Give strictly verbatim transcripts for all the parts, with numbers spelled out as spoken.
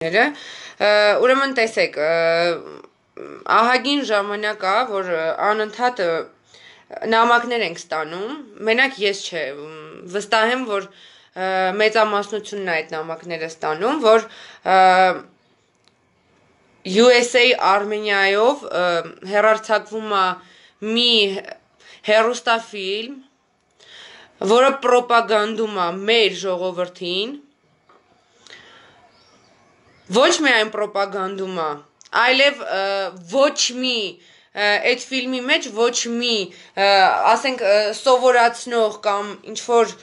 Ուրեմն տեսեք, ահագին ժամանակ է, որ անընդհատ նամակներ ենք ստանում, մենակ ես չէ, վստահ եմ, որ մեծամասնությունն է այդ նամակները ստանում, որ յու էս էյ Արմենիայով հեռարձակվում է մի հեռուստաֆիլմ, որը պրոպագանդում է մեր ժողովրդին, ոչ միայն պրոպագանդում է, այլև ոչ մի այդ ֆիլմի մեջ ոչ մի ասենք սովորացնող կամ ինչ-որ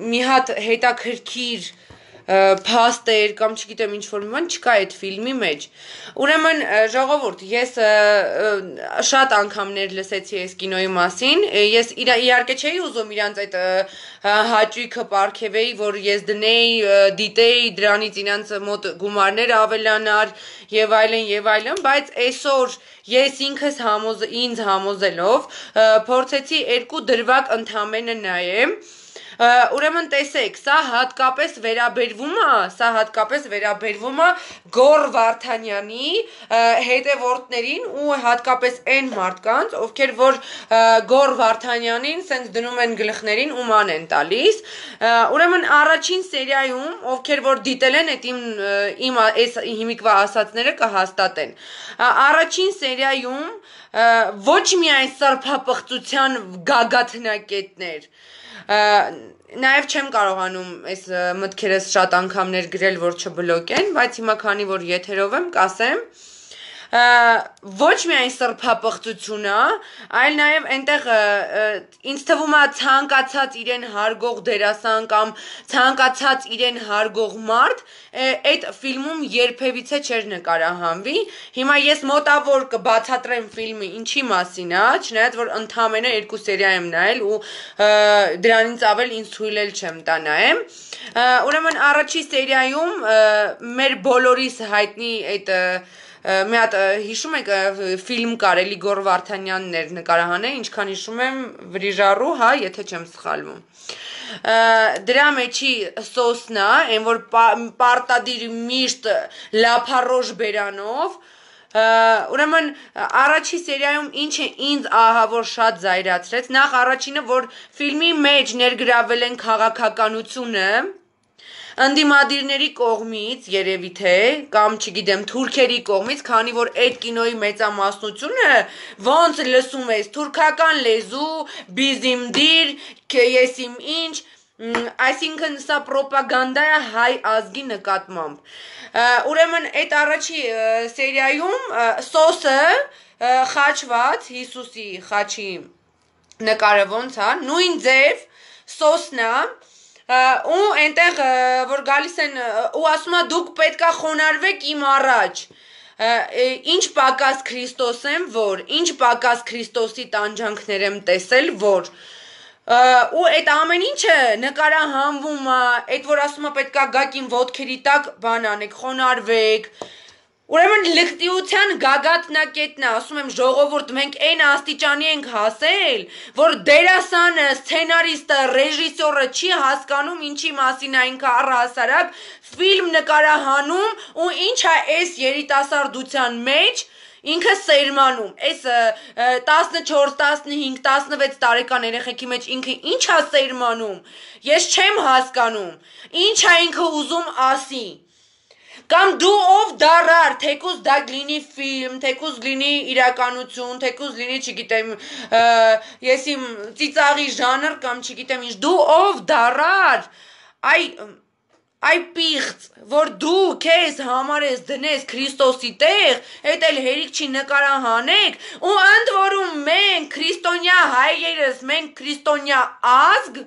մի հատ հետաքրքիր փաստեր կամ չգիտեմ ինչ-որ մի բան չկա այդ ֆիլմի մեջ, ուրեմն ժողովուրդ, ես շատ անգամներ լսեցի այս կինոյի մասին, ես իհարկե չէի ուզում իրանց այդ հաճույքը պարգևեի, որ ես դնեի, դիտեի, դրանից իրանց մոտ գումարներ ավելանար եւ այլն եւ այլն, բայց այսօր ես ինքս ինձ համոզելով փորձեցի երկու դրվագ ընդամենը նայեմ, ուրեմն տեսեք, սա հատկապես վերաբերվում է, սա հատկապես վերաբերվում է Գոռ Վարդանյանի հետևորդներին ու հատկապես այն մարդկանց, ովքեր որ Գոռ Վարդանյանին սենց դնում են գլխներին ու ման են տալիս, ուրեմն առաջին սերիայում, ովքեր որ դիտել են, այդ իմ այս հիմիկվա ասածները կհաստատեն, առաջին սերիայում ոչ միայն սրբապղծության գագաթնակետներ, նաև չեմ կարողանում այս մտքերս շատ անգամներ գրել, որ չբլոկեն, բայց հիմա քանի որ եթերով եմ, կասեմ, ոչ միայն սրբապղծությունը, այլ նաև այնտեղ ինձ թվում է ցանկացած իրեն հարգող դերասան կամ ցանկացած իրեն հարգող մարդ այդ ֆիլմում երբևիցե չէր նկարահանվի, հիմա ես մոտավոր կբացատրեմ ֆիլմը ինչի մասին է, չնայած որ ընդամենը երկու սերիա եմ նայել ու դրանից ավել ինձ թույլ էլ չեմ տա նայեմ, ուրեմն առաջի սերիայում մեր բոլորիս հայտնի այդ մի հատ հիշում եք ֆիլմ կար, էլի Գոռ Վարդանյանն էր նկարահանել, ինչքան հիշում եմ վրիժառու, հա, եթե չեմ սխալվում, դրա մեջի սոսն է, այն որ պարտադիր միշտ լափառոշ բերանով, ուրեմն առաջի սերիայում ինչը ինձ ահավոր շատ զայրացրեց, նախ առաջինը, որ ֆիլմի մեջ ներգրավել են քաղաքականությունը, ընդդիմադիրների կողմից երևի թե, կամ չգիտեմ թուրքերի կողմից, քանի որ այդ կինոյի մեծամասնությունը ոնց լսում ես թուրքական լեզու, բիզիմդիր, ես իմ ինչ, այսինքն սա պրոպագանդա է հայ ազգի նկատմամբ, ուրեմն այդ առաջի սերիայում սոսը խաչված, Հիսուսի խաչի նկարը ոնց է, նույն ձև սոսն է, ու այնտեղ որ գալիս են ու ասում է դուք պետքա խոնարհվեք իմ առաջ, ինչ պակաս Քրիստոս եմ, որ, ինչ պակաս Քրիստոսի տանջանքներ եմ տեսել, որ, ու այդ ամեն ինչը նկարահանվում է, այդ որ ասում է պետքա գաք իմ ոտքերի տակ բան անեք, խոնարհվեք, ուրեմն լկտիության գագաթնակետն է, ասում եմ ժողովուրդ, մենք այն աստիճանի ենք հասել, որ դերասանը, սցենարիստը, ռեժիսորը չի հասկանում ինչի մասին է ինքը առհասարակ ֆիլմ նկարահանում ու ինչ է այս երիտասարդության մեջ ինքը սերմանում, այս տասնչորս, տասնհինգ, տասնվեց տարեկան երեխեքի մեջ ինքը ինչ է սերմանում, ես չեմ հասկանում, ինչ է ինքը ուզում ասի, կամ դու ով դարար, թեկուզ դա լինի ֆիլմ, թեկուզ լինի իրականություն, թեկուզ լինի, չգիտեմ, ես իմ ծիծաղի ժանր կամ չգիտեմ ինչ, դու ով դարար, այ, այ պիղծ, որ դու քեզ համարես դնես Քրիստոսի տեղ, էդ էլ հերիք չի նկարահանեք, ու ընդ որում մենք քրիստոնյա հայերս, մենք քրիստոնյա ազգ,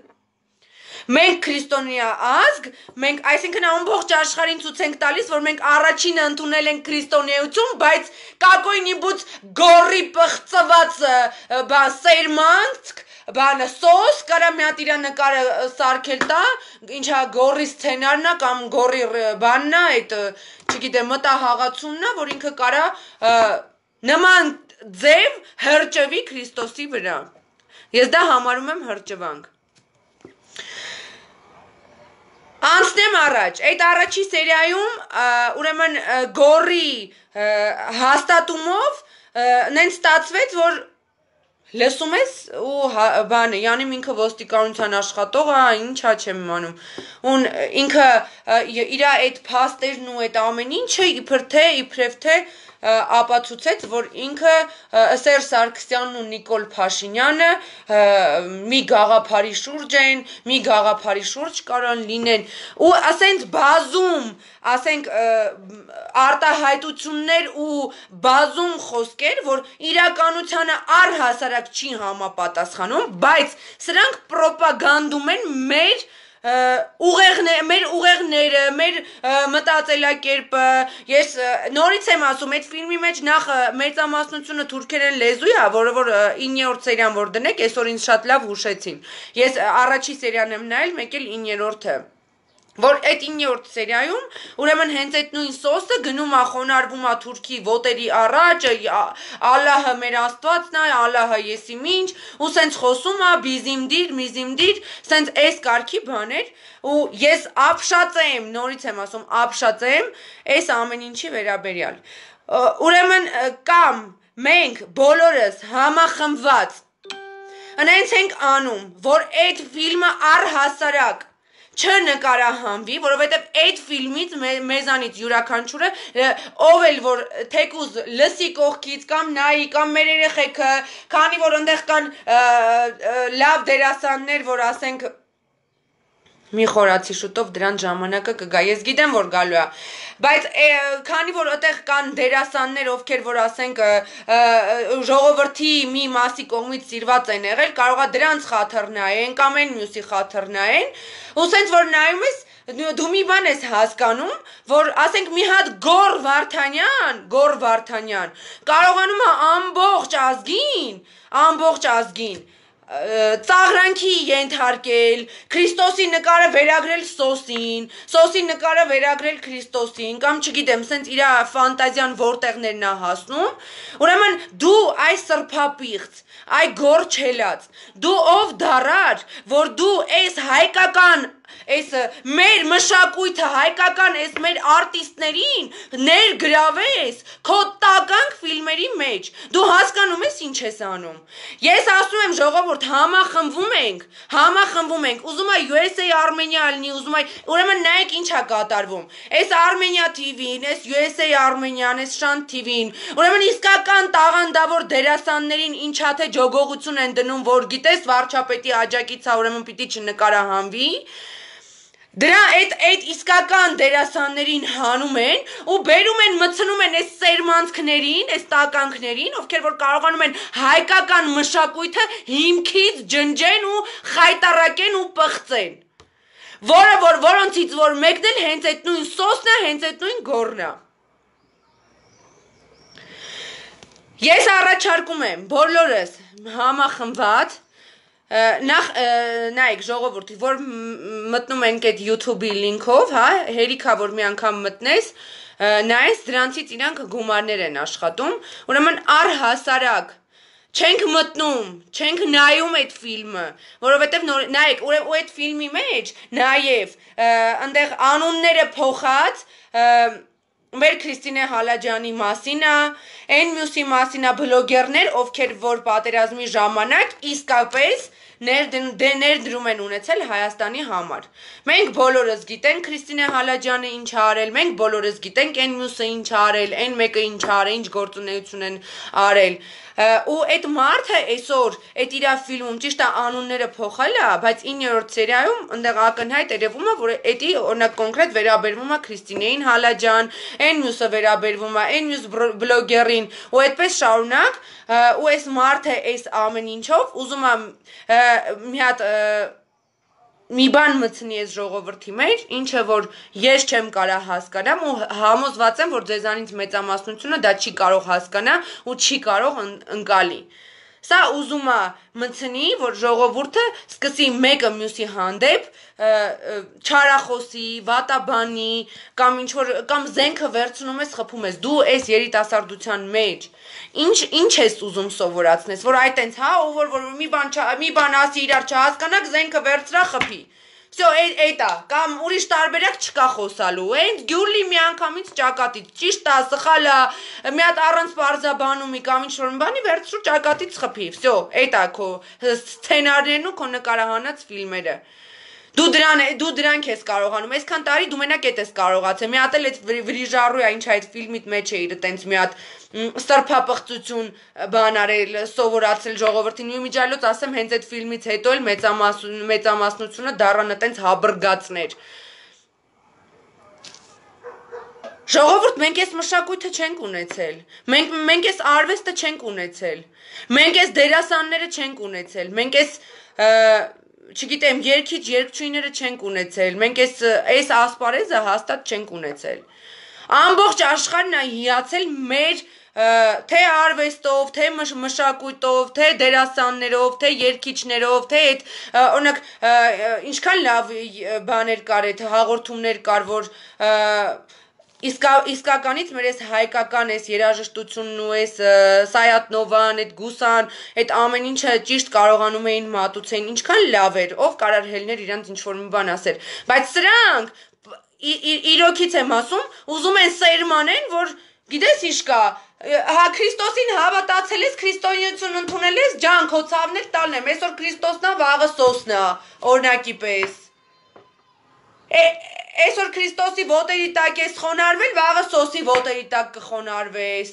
մենք քրիստոնյա ազգ, մենք այսինքն ամբողջ աշխարհին ցույց ենք տալիս, որ մենք առաջինը ընդունել ենք քրիստոնեություն, բայց կակոյնիբուց գորի պղծված բան սերմանք, բանը սոս, կարա մի հատ իրա նկարը սարքել տա, ինչա գորի սցենարն է կամ գորի բանն է, այդ չգիտեմ մտահաղացումն է, որ ինքը կարա նման ձև հրճվի Քրիստոսի վրա, ես դա համարում եմ հրճվանք, Անցնեմ առաջ, այդ առաջի սերիայում ուրեմն գորի հաստատումով նենց ստացվեց, որ լսում ես ու բանը, յանի ինքը ոստիկանության աշխատող է, ինչա չեմ իմանում, ուն ինքը իր այդ փաստերն ու այդ ամեն ինչը իբր թե, իբրև թե ապացուցեց, որ ինքը Սերժ Սարգսյանն ու Նիկոլ Փաշինյանը մի գաղափարի շուրջ են, մի գաղափարի շուրջ կարան լինեն ու ասենք բազում, ասենք արտահայտություններ ու բազում խոսքեր, որ իրականությանը առհասարակ չի համապատասխանում, բայց սրանք պրոպագանդում են մեր ուղեղներ, մեր ուղեղները, մեր մտածելակերպը, ես նորից եմ ասում, այդ ֆիլմի մեջ նախ մեծամասնությունը թուրքերեն լեզու է, որը որ իններորդ սերիան որ դնեք, այսօր ինձ շատ լավ հուշեցին, ես առաջի սերիան եմ նայել, մեկ էլ իններորդը, որ այդ իններորդ սերիայում, ուրեմն հենց այդ նույն սոսը գնում է խոնարհվում է թուրքի ոտերի առաջ, Ալլահը մեր Աստվածն է, Ալլահը եսի ինչ, ու սենց խոսում է, բիզիմդիր, միզիմդիր, սենց այս կարգի բաներ, ու ես ապշած եմ, նորից եմ ասում, ապշած եմ, այս ամեն ինչի վերաբերյալ, ուրեմն կամ մենք բոլորս համախմբված, նենց ենք անում, որ այդ ֆիլմը առհասարակ չնկարահանվի, որովհետև այդ ֆիլմից մեզանից յուրաքանչյուրը ով էլ որ թեկուզ լսի կողքից կամ նայի կամ մեր երեխեքը, քանի որ այնտեղ կան լավ դերասաններ, որ ասենք մի խորացի շուտով դրան ժամանակը կգա, ես գիտեմ, որ գալու է, բայց քանի որ այդտեղ կան դերասաններ, ովքեր որ ասենք ժողովրդի մի մասի կողմից սիրված են եղել, կարող է դրանց խաթր նայեն կամ այն մյուսի խաթր նայեն, ու սենց որ նայում ես դու մի բան ես հասկանում, որ ասենք մի հատ Գոր Վարդանյան, Գոր Վարդանյան կարողանում է ամբողջ ազգին, ամբողջ ազգին ծաղրանքի ենթարկել, Քրիստոսի նկարը վերագրել Սոսին, Սոսի նկարը վերագրել Քրիստոսին, կամ չգիտեմ, սենց իր ֆանտազիան որտեղներն է հասնում, ուրեմն դու այ սրբապիղծ, այ գոր չելած, դու ով դարար, որ դու այս հայկական այս մեր մշակույթը հայկական այս մեր արտիստներին ներգրավես քո տականք ֆիլմերի մեջ, դու հասկանում ես ինչ ես անում, ես ասում եմ ժողովուրդ համախմբվում ենք, համախմբվում ենք, ուզում է յու էս էյ Armenia լինի, ուզում է, ուրեմն նայեք ինչ է կատարվում, այս Armenia T V-ին, այս յու էս էյ Armenian, այս Շանթ T V-ին, ուրեմն իսկական տաղանդավոր դերասաններին ինչա թե ջոգողություն են դնում, որ գիտես վարչապետի աջակից է, ուրեմն պիտի չնկարահանվի, դրա այդ այդ իսկական դերասաններին հանում են ու բերում են մցնում են այս սերմանցքներին, այս տականքներին, ովքեր որ կարողանում են հայկական մշակույթը հիմքից ջնջեն ու խայտարակեն ու պղծեն, որը որ որոնցից որ մեկն էլ հենց այդ նույն սոսն է, հենց այդ նույն գորն է։ Ես առաջարկում եմ բոլորս համախմբված նախ նայեք ժողովուրդի, որ մտնում ենք այդ YouTube-ի լինքով, հա, հերիքա որ մի անգամ մտնես, նայես դրանցից իրանք գումարներ են աշխատում, ուրեմն առհասարակ չենք մտնում, չենք նայում այդ ֆիլմը, որովհետև նայեք, ու այդ ֆիլմի մեջ նաև այնտեղ անունները փոխած մեր Քրիստինե Հալաջյանի մասին է, այն մյուսի մասին է բլոգերներ, ովքեր որ պատերազմի ժամանակ իսկապես ներդրում են ունեցել Հայաստանի համար։ Մենք բոլորս գիտենք Քրիստինե Հալաջյանը ինչ է արել, մենք բոլորս գիտենք այն մյուսը ինչ է արել, այն մեկը ինչ է արել, ինչ գործունեություն են արել։ Ու այդ մարդը այսօր այդ իր ֆիլմում ճիշտ է անունները փոխել է, բայց իններորդ սերիայում այնտեղ ակնհայտ երևում է, որ էդի օրինակ կոնկրետ վերաբերվում է Քրիստինեին Հալաջյան, այն մյուսը վերաբերվում է այն մյուս բլոգերին, ու այդպես շարունակ, ու այս մարդը այս ամեն ինչով ուզում է մի հատ մի բան մտցնի այս ժողովրդի մեջ, ինչը որ ես չեմ կարող հասկանամ ու համոզված եմ, որ ձեզանից մեծամասնությունը դա չի կարող հասկանա ու չի կարող ընկալի։ Սա ուզում է մտցնի, որ ժողովուրդը սկսի մեկը մյուսի հանդեպ չարախոսի, վատաբանի, կամ ինչ որ կամ զենքը վերցնում ես, խփում ես, դու այս երիտասարդության մեջ ինչ ինչ ես ուզում սովորացնես, որ այ տենց, հա, ով որ որ մի բան մի բան ասի իրար չհասկանաք, զենքը վերցրա խփի։ Всё, էտա, կամ ուրիշ տարբերակ չկա խոսալու։ Այն գյուլի միանգամից ճակատից, ճիշտ է, սխալ է, մի հատ առանց բարձաբանումի կամ ինչ-որ մի բանի վերցրու ճակատից խփի։ Всё, էտա քո սցենարներն ու քո նկարահանած ֆիլմերը։ Դու դրան դու դրանք ես կարողանում, այսքան տարի դու մենակ էդ ես կարողացել։ Մի հատ էլ այդ վրիժառու է, ինչ այդ ֆիլմիդ մեջ է իր տենց մի հատ սրբապղծություն բան արել, սովորացել ժողովրդին։ Ու իմիջիալոց ասեմ, հենց այդ ֆիլմից հետո էլ մեծամասնությունը դառան տենց հաբրգացներ։ Ժողովուրդ, մենք այս մշակույթը չենք ունեցել։ Մենք մենք այս արվեստը չենք ունեցել։ Մենք այս դերասանները չենք ունեցել։ Մենք այս չգիտեմ, երգիչ երգչուհիները չենք ունեցել։ Մենք այս այս ասպարեզը հաստատ չենք ունեցել։ Ամբողջ աշխարհն է հիացել մեր թե արվեստով, թե մշակույթով, թե դերասաններով, թե երգիչներով, թե այդ օրինակ ինչքան լավ բաներ կար, այդ հաղորդումներ կար, որ Իսկ իսկականից մեր այս հայկական այս երաժշտությունն ու այս Սայաթ-Նովան, այդ Գուսան, այդ ամեն ինչը ճիշտ կարողանում էին մատուցեն, ինչքան լավ էր, ով կարար հելներ իրանց ինչ-որ մի բան ասել, բայց սրանք իրոքից եմ ասում, ուզում են սերմանեն, որ գիտես ինչ կա, հա Քրիստոսին հավատացել ես, քրիստոնեություն ընդունել ես, ջան, քո ցավներ տալն եմ, այսօր Քրիստոսն է, վաղը սոսն է, օրինակի պես Այսօր Քրիստոսի ոտերի տակ ես խոնարհվել, վաղը սոսի ոտերի տակ կխոնարհվես։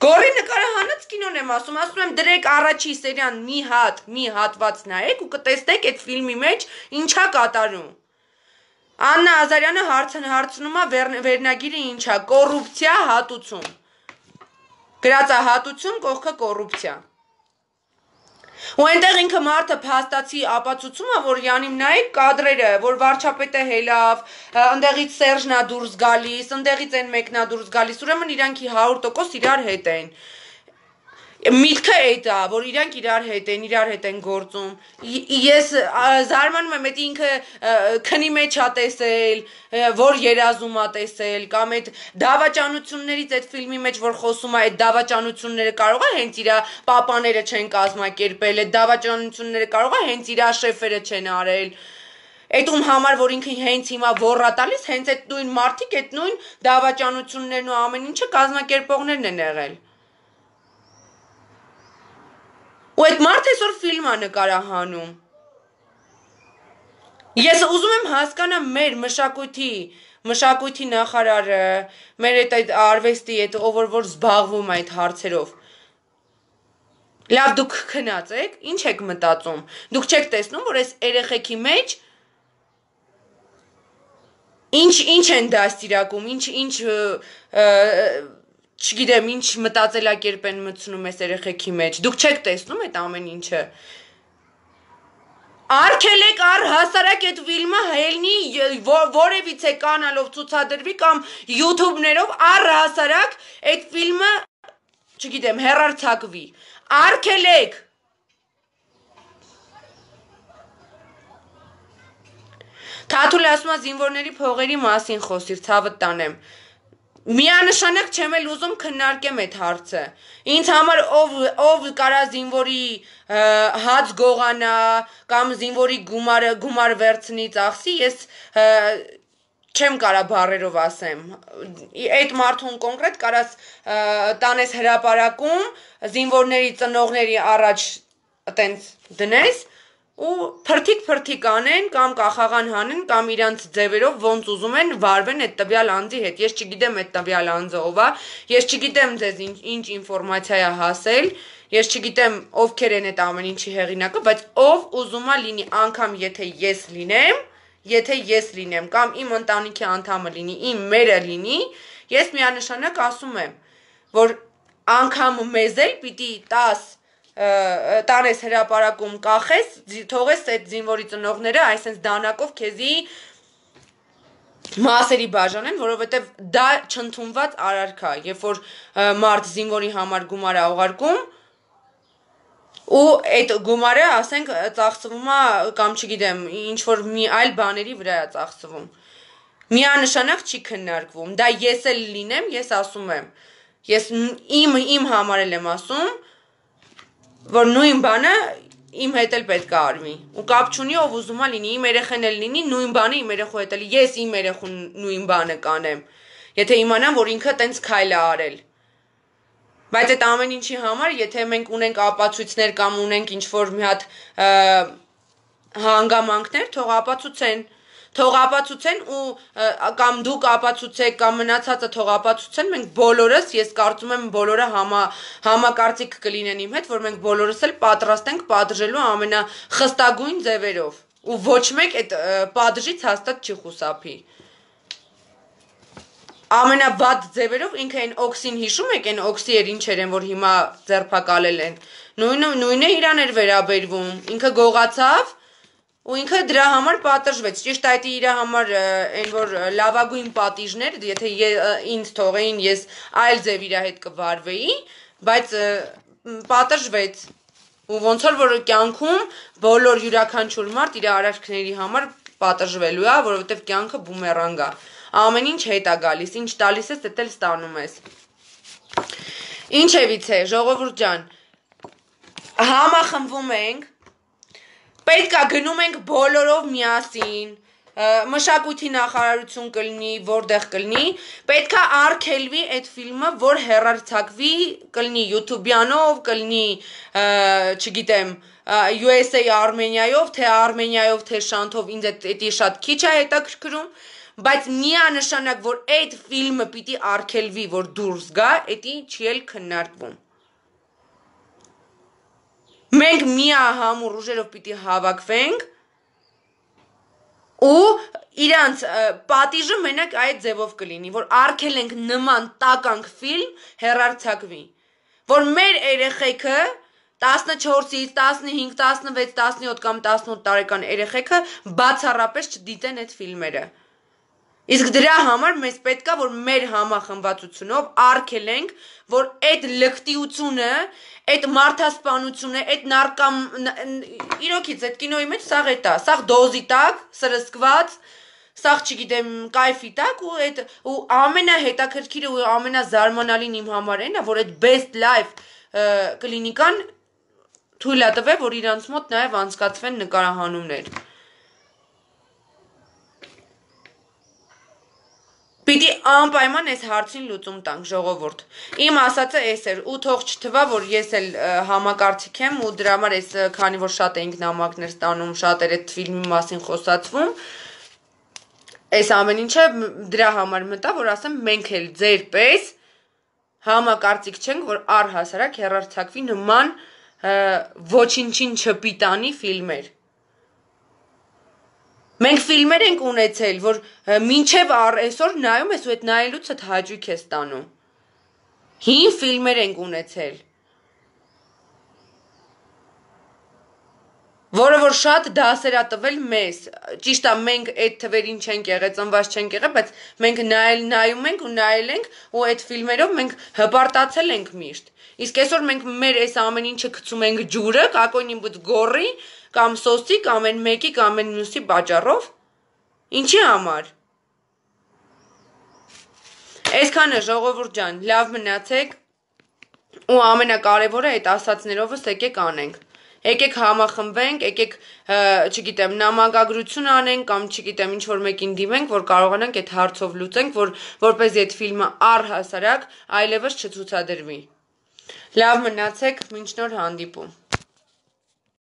Գորի նկարահանած կինոն եմ ասում, ասում եմ դրեք առաջի սերիան մի հատ, մի հատված նայեք ու կտեսնեք այդ ֆիլմի մեջ ինչա կատարում։ Աննա Ազարյանը հարցնում է վերնագիրը ինչա, կոռուպցիա հատուցում։ Գրած է հատուցում, կողքը կոռուպցիա։ Ու այնտեղ ինքը մարդը փաստացի ապացուցում է, որ յանիմ նայեք կադրերը, որ վարչապետը հելավ, ընդեղից Սերժն է դուրս գալիս, ընդեղից այն մեկն է դուրս գալիս, ուրեմն իրանքի հարյուր տոկոս իրար հետ են։ Միտքը էդ է, որ իրանք իրար հետ են, իրար հետ են գործում։ Ես զարմանում եմ, այդ ինքը քնի մեջ է տեսել, որ երազում է տեսել, կամ այդ դավաճանություններից այդ ֆիլմի մեջ որ խոսում է, այդ դավաճանությունները կարող է հենց իր պապաները չեն կազմակերպել, այդ դավաճանությունները կարող է հենց իր շեֆերը չեն արել։ Այդ ում համար որ ինքը հենց հիմա ոռա տալիս, հենց այդ նույն մարդիկ, այդ նույն դավաճանություններն ու ամեն ինչը կազմակերպողներն են եղել։ Ու այդ մարդը այսօր ֆիլմ է նկարահանում։ Ես ուզում եմ հասկանամ մեր մշակույթի, մշակույթի նախարարը, մեր այդ արվեստի, այդ ով որ զբաղվում է այդ հարցերով։ Լավ դուք քնած եք, ինչ եք մտածում։ Դուք չեք տեսնում, որ այս երեխեքի մեջ ինչ ինչ են դաստիարակում, ինչ ինչ չգիտեմ, ինչ մտածելակերպ են մտցնում այս երեխեքի մեջ։ Դուք չեք տեսնում այդ ամեն ինչը։ Արգելեք առհասարակ այդ ֆիլմը հելնի որևիցե կանալով ցուցադրվի կամ YouTube-ներով առհասարակ այդ ֆիլմը, չգիտեմ, հեռարձակվի։ Արգելեք։ Թաթուլ ասում է զինվորների փողերի մասին խոսիր, ցավդ տանեմ։ Միանշանակ չեմ էլ ուզում քննարկեմ այդ հարցը։ Ինձ համար ով ով կարա զինվորի հաց գողանա կամ զինվորի գումարը գումար վերցնի ծախսի, ես չեմ կարա բառերով ասեմ։ Այդ մարդուն կոնկրետ կարաս տանես հրապարակում զինվորների ծնողների առաջ այտենց դնես ու փրթիկ-փրթիկ անեն կամ կախաղան հանեն կամ իրանց ձևերով ոնց ուզում են վարվեն այդ տվյալ անձի հետ։ Ես չգիտեմ այդ տվյալ անձը ով է, ես չգիտեմ ձեզ ինչ, ինչ ինֆորմացիա է հասել, ես չգիտեմ ովքեր են այդ ամեն ինչի հեղինակը, բայց ով ուզում է լինի, անգամ եթե ես լինեմ, եթե ես լինեմ կամ իմ ընտանիքի անդամը լինի, իմ մերը լինի, ես միանշանակ ասում եմ, որ անգամ մեզ էլ պիտի տաս տանես հրապարակում կախես, թողես այդ զինվորի ծնողները այսպես դանակով քեզի մասերի բաժանեն, որովհետև դա չընդունված արարք է, երբ որ մարդ զինվորի համար գումար է ուղարկում ու այդ գումարը, ասենք, ծախսվում է կամ չգիտեմ, ինչ որ մի այլ բաների վրա է ծախսվում։ Միանշանակ չի քննարկվում։ Դա ես էլ լինեմ, ես ասում եմ։ Ես իմ իմ համար էլ եմ ասում, որ նույն բանը իմ հետ էլ պետք է արվի։ Ու կապ չունի ով ուզում է լինի, իմ երեխեն էլ լինի, նույն բանը իմ երեխու հետ էլ, ես իմ երեխուն նույն բանը կանեմ։ Եթե իմանամ, որ ինքը տենց քայլ է արել։ Բայց այդ ամեն ինչի համար, եթե մենք ունենք ապացույցներ կամ ունենք ինչ-որ մի հատ հանգամանքներ, թող ապացուցեն, թող ապացուցեն ու կամ դուք ապացուցեք կամ մնացածը թող ապացուցեն, մենք բոլորս, ես կարծում եմ բոլորը համա, համակարծիք կլինեն իմ հետ, որ մենք բոլորս էլ պատրաստ ենք պատժելու ամենախստագույն ձևերով ու ոչ մեկ այդ պատժից հաստատ չի խուսափի։ Ամենավատ ձևերով ինքը այն օքսին հիշում եք, այն օքսի էր ինչեր են, որ հիմա ձերբակալել են, նույնը իրան էր վերաբերվում, ինքը գողացավ ու ինքը դրա համար պատժվեց, ճիշտ այդ իր համար այն որ լավագույն պատիժներ, եթե ինձ թողեին ես այլ ձև իր հետ կվարվեի, բայց պատժվեց ու ոնց որ որ կյանքում բոլոր յուրաքանչյուր մարդ իր արարքների համար պատժվելու է, որովհետև կյանքը բումերանգ է, ամեն ինչ հետ է գալիս, ինչ տալիս ես, դա էլ ստանում ես։ Ինչևից է, ժողովուրդ ջան, համախմբվում ենք, պետք է գնում ենք բոլորով միասին, մշակույթի նախարարություն կլինի, որտեղ կլինի, պետք է արգելվի այդ ֆիլմը, որ հեռարձակվի, կլինի յութուբյանով, կլինի, չգիտեմ, յու էս էյ Արմենիայով, թե Արմենիայով, թե Շանթով, ինձ էդի շատ քիչ է հետաքրքրում, բայց միանշանակ, որ այդ ֆիլմը պիտի արգելվի, որ դուրս գա, էդի չի էլ քննարկվում։ Մենք միահամուռ ուժերով պիտի հավաքվենք ու իրանց պատիժը մենակ այդ ձևով կլինի, որ արգելենք նման տականք ֆիլմ հեռարձակվի, որ մեր երեխեքը տասնչորսից, տասնհինգ, տասնվեց, տասնյոթ կամ տասնութ տարեկան երեխեքը բացառապես չդիտեն այդ ֆիլմերը։ Իսկ դրա համար մեզ պետք է, որ մեր համախմբվածությունով արգելենք, որ այդ լկտիությունը, այդ մարդասպանությունը, այդ նարկամ, իրոքից այդ կինոյի մեջ սաղ էտ է, սաղ դոզի տակ, սրսկված, սաղ չգիտեմ կայֆի տակ ու, այդ, ու ամենահետաքրքիրը ու ամենազարմանալին իմ համար են, որ այդ best life կլինիկան թույլ է տվել, որ իրանց մոտ նաև անցկացվեն նկարահանումներ։ Պիտի անպայման այս հարցին լուծում տանք, ժողովուրդ։ Իմ ասածը էս էր, ու թող չթվա, որ ես էլ համակարծիք եմ ու դրա համար ես քանի որ շատ էինք նամակներ ստանում, շատ էր այդ ֆիլմի մասին խոսացվում, այս ամեն ինչը դրա համար մտա, որ ասեմ մենք էլ ձեր պես համակարծիք չենք, որ առհասարակ հեռարձակվի նման ոչինչին չպիտանի ֆիլմեր։ Մենք ֆիլմեր ենք ունեցել, որ մինչև այսօր նայում ես ու այդ նայելուց այդ հաճույք ես ստանում։ Հին ֆիլմեր ենք ունեցել, որը որ շատ դասեր է տվել մեզ, ճիշտ է մենք այդ թվերին չենք եղել, ծնված չենք եղել, բայց մենք նայել նայում ենք ու նայել ենք ու այդ ֆիլմերով մենք հպարտացել ենք միշտ։ Իսկ այսօր մենք մեր այս ամեն ինչը գցում ենք ջուրը, կակոյնի գորի կամ սոսի կամ այն մեկի կամ այն մյուսի պատճառով։ Ինչի համար։ Այսքանը ժողովուրդ ջան, լավ մնացեք ու ամենակարևորը այդ ասածներովս եկեք անենք։ Եկեք համախմբվենք, եկեք, չգիտեմ, նամակագրություն անենք կամ չգիտեմ ինչ որ մեկին դիմենք, որ կարողանանք այդ հարցով լուծենք, որ որպեսզի այդ ֆիլմը առհասարակ այլևս չցուցադրվի։ Լավ մնացեք, մինչ նոր հանդիպում։